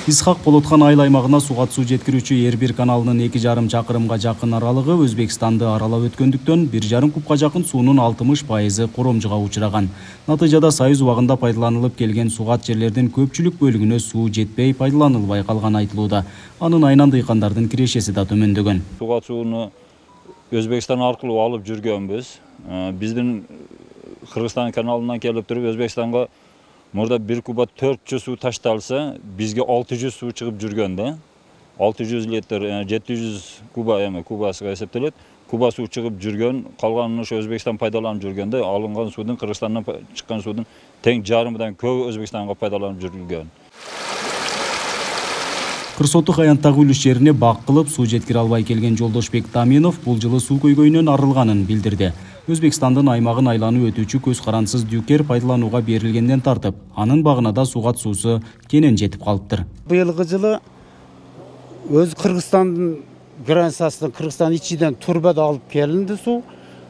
Исхак Болотхан айыл аймагына суга суу жеткирүүчү Эрбир каналынын 2,5 чакырымга жакын аралыгы Өзбекстанды аралап өткөндүктөн 1,5 кубка жакын суунун 60% коромжуга учураган. Натыйжада Союз убагында пайдаланылып келген сугат жерлердин көпчүлүк бөлүгүнө суу жетпей пайдаланылбай калган айтылууда. Анын айынан дыйкандардын кирешеси да төмөндөгөн. Сугат сууну Өзбекстан аркылуу алып жүргөнбүз. Биздин Кыргызстан каналынан келип туруп Өзбекстанга мурда 1 куба 400 суу ташталса, бизге 600 суу чыгып жүргөн да. 600 литр, 700 куба кубасыга эсептелет. Куба суу чыгып жүргөн, калганын ошо Өзбекстан пайдаланып жүргөндө, алынган суудун Кыргызстандан чыккан суудун тең жарымдан көбү Өзбекстанга пайдаланып жүрүлгөн. Кырсотук аянттагы үлүш жерине бак кылып суу жеткире албай келген Жолдошбек Таминов бул жылы суу көйгөйүнөн арылганын билдирди. Өзбекстандын аймагын айланып өтүүчү көз карансыз дюкер пайдаланууга берилгенден тартып, анын багына да сугат суусу кенен жетип калыптыр. Быйылгы жылы өз Кыргызстандын границасынан Кыргызстан ичиден турбада алып келинди суу,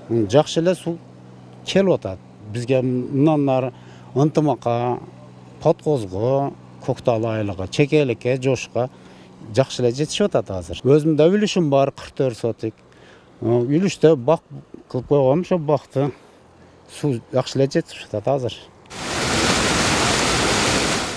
жакшы эле суу келип атат. Бизге мындан ары Ынтымакка, Подкозго, Көктал айылыга, Чекеликке, Жошко жакшы эле жетишип атат азыр. Өзүмдүн да үлүшүм бар 44 сотик. Үлүштө бак кылып койгом, ошо бакты суу жакшы эле жетишип атат азыр.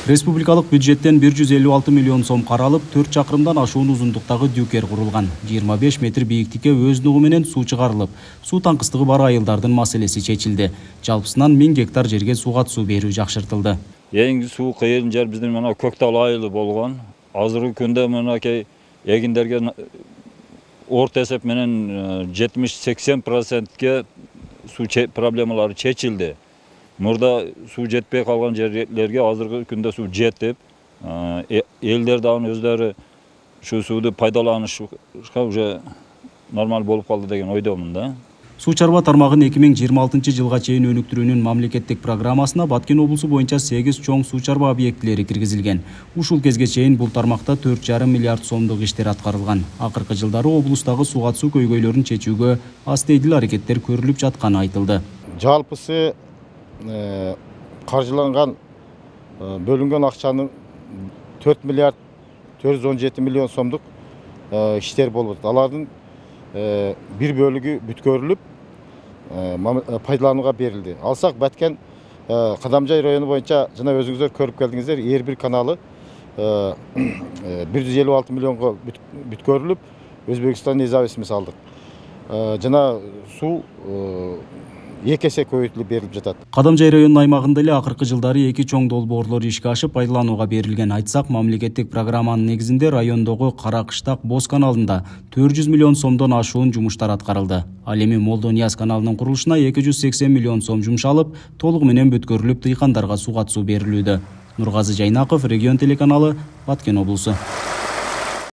Республикалык бюджеттен 156 миллион сом каралып, 4 чакырымдан ашуун узундуктагы дюкер курулган. 25 метр бийиктикке өз нугу менен суу чыгарылып, суу таңкыстыгы бар айылдардын маселеси чечилди. Жалпысынан 1000 гектар жерге сугат суу берүү жакшыртылды. Эң суу кыйын жер биздин мына Көктал айылы болгон. Азыркы күндө мынакей эгиндерге орта эсеп менен 70-80%ке суу проблемалары чечилди. Мурда суу жетпей калган жерлерге азыркы күндө суу жетип, элдер да өздөрү ушу сууду пайдаланышка уже нормал болуп калды деген ойдомун да. Суу чарба тармагын 2026 жылга чейин өнүктүрүүнүн мамлекеттик программасына Баткен облусу боюнча 8 чоң суу чарба объектилери киргизилген. Ушул кезге чейин бул тармакта 4,5 миллиард сомдук иштер аткарылган. Акыркы жылдары облустагы сугат суу көйгөйлөрүн чечүүгө астейдил аракеттер көрүлүп жатканы айтылды. Жалпысы каржыланган бөлүнгөн акчанын 4 миллиард 417 миллион сомдук иштер болуп атат. Алардын bir bölügü бүткөрүлүп пайдаланууга берилди. Алсак Баткен Кадамжай району боюнча жана өзүңүздөр көрүп келдиңиздер, Эрбир каналы 156 миллионго бүткөрүлүп, Өзбекстан независимдик алдык. Жана суу 2 эсе көбөйтүлүп берилип жатат. Кадамжай районунун аймагында эле акыркы жылдары 2 чоң долбоорлор ишке ашып пайдаланууга берилген. Айтсак, мамлекеттик программанын негизинде райондогу Каракыштак Боз каналында 400 миллион сомдон ашуун жумуштар аткарылды. Ал эми Молдонияз каналынын курулушуна 280 миллион сом жумшалып, толугу менен бүткөрүлүп дыйкандарга сугат суу берилүүдө. Нургазы Жайнаков, Регион телеканалы, Баткен облусу.